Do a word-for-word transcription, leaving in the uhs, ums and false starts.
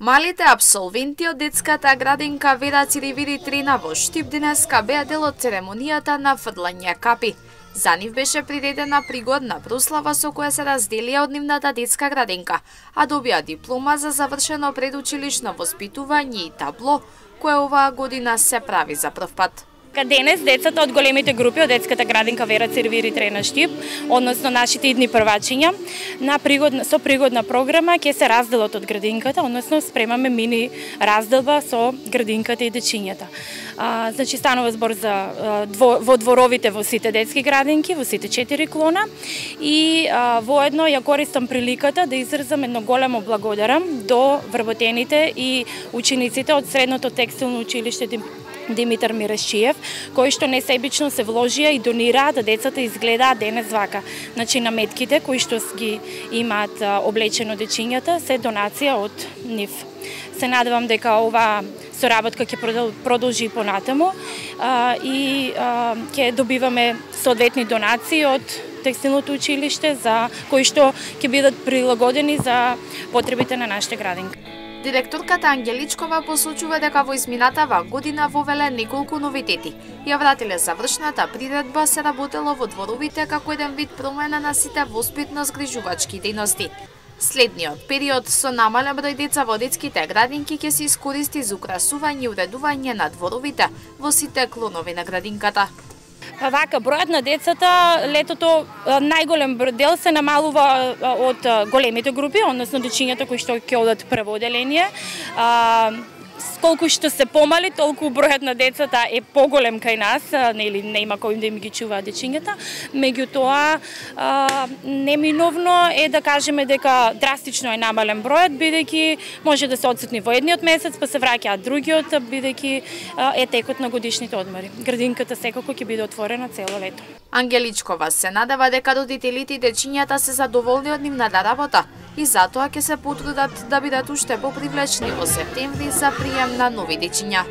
Малите апсолвенти од детската градинка Вера Циревири трина во Штип денеска беа дел од церемонијата на фрлање капи. За нив беше приредена пригодна прослава со која се разделија од нивната детска градинка, а добија диплома за завршено предучилишно воспитување и табло, кое оваа година се прави за прв пат. Денес децата од големите групи од детската градинка Вера Циревири трина Штип, односно нашите идни првачиња, на пригодна, со пригодна програма ќе се разделат од градинката, односно спремаме мини разделба со градинката и дечињата. А, значи станува збор за а, дво, во дворовите во сите детски градинки, во сите четири клона и а, воедно ја користам приликата да изразам едно големо благодарам до вработените и учениците од средното текстилно училиште Димитар Мирашчиев, кои што несебично се вложија и донираат да децата изгледаат денес вака. Значи наметките кои што ги имаат облечено дечињата се донација од нив. Се надевам дека ова соработка ќе продолжи понатаму а, и а, ќе добиваме соодветни донации од текстилното училиште за кои што ќе бидат прилагодени за потребите на нашите градинки. Директорката Ангеличкова посочува дека во изминатава година вовеле неколку новитети. Ја вратиле завршната приредба, се работело во дворовите како еден вид промена на сите воспитно-згрижувачки дејности. Следниот период со намален број деца во детските градинки ќе се искористи за украсување и уредување на дворовите во сите клонови на градинката. Па вака, бројот на децата летото најголем дел се намалува од големите групи, односно дечињата кои што ќе одат прво оделение. Колку што се помали, толку бројот на децата е поголем кај нас, нели нема кој да им ги чува дечињата. Меѓутоа, неминовно е да кажеме дека драстично е намален бројот, бидејќи може да се одсутни во едниот месец, па се враќаат другиот, бидејќи е текот на годишните одмори. Градинката секако ќе биде отворена цело лето. Ангеличкова се надева дека родителите и дечињата се задоволни од нивната работа и затоа ќе се потрудат да бидат уште попривлечни во септември за прием на нови дечиња.